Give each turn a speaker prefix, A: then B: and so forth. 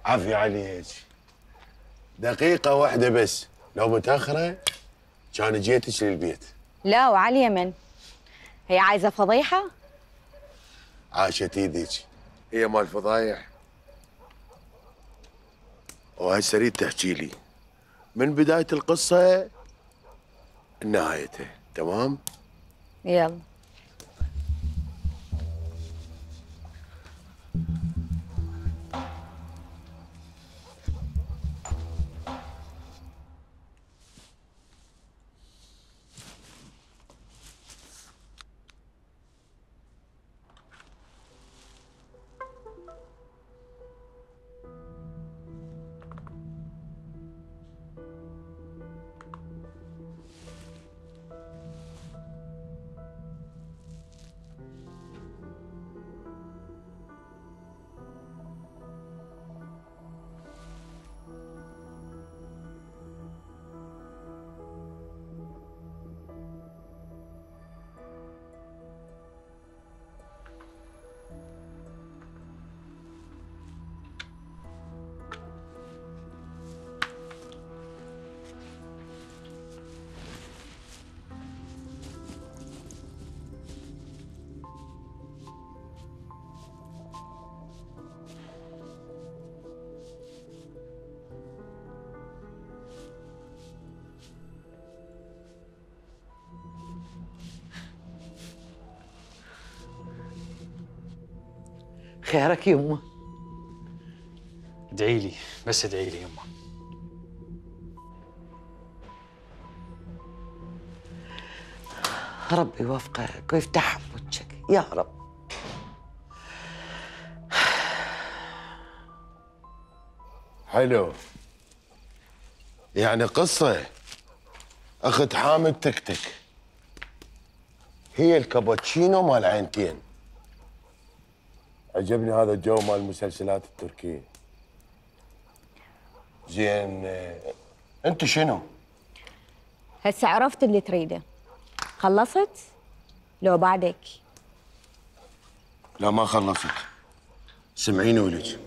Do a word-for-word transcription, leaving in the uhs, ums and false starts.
A: عافية عليك. دقيقة واحدة بس، لو متأخرة كان جيتك للبيت.
B: لا وعلى اليمن. هي عايزة فضيحة؟
A: عاشت ايدك، هي مال فضايح. وهسه اريد تحكي لي من بداية القصة لنهايتها، تمام؟
B: يلا.
C: خيرك يمه؟
D: ادعي لي، بس ادعي لي يمه.
C: ربي يوفقك ويفتح وجهك يا رب.
A: حلو. يعني قصة اخت حامد تكتك هي الكابتشينو مال عينتين. عجبني هذا الجو مال المسلسلات التركية. زين، انت شنو؟
B: هسه عرفت اللي تريده. خلصت؟ لو بعدك؟
A: لا ما خلصت. سمعيني ولك،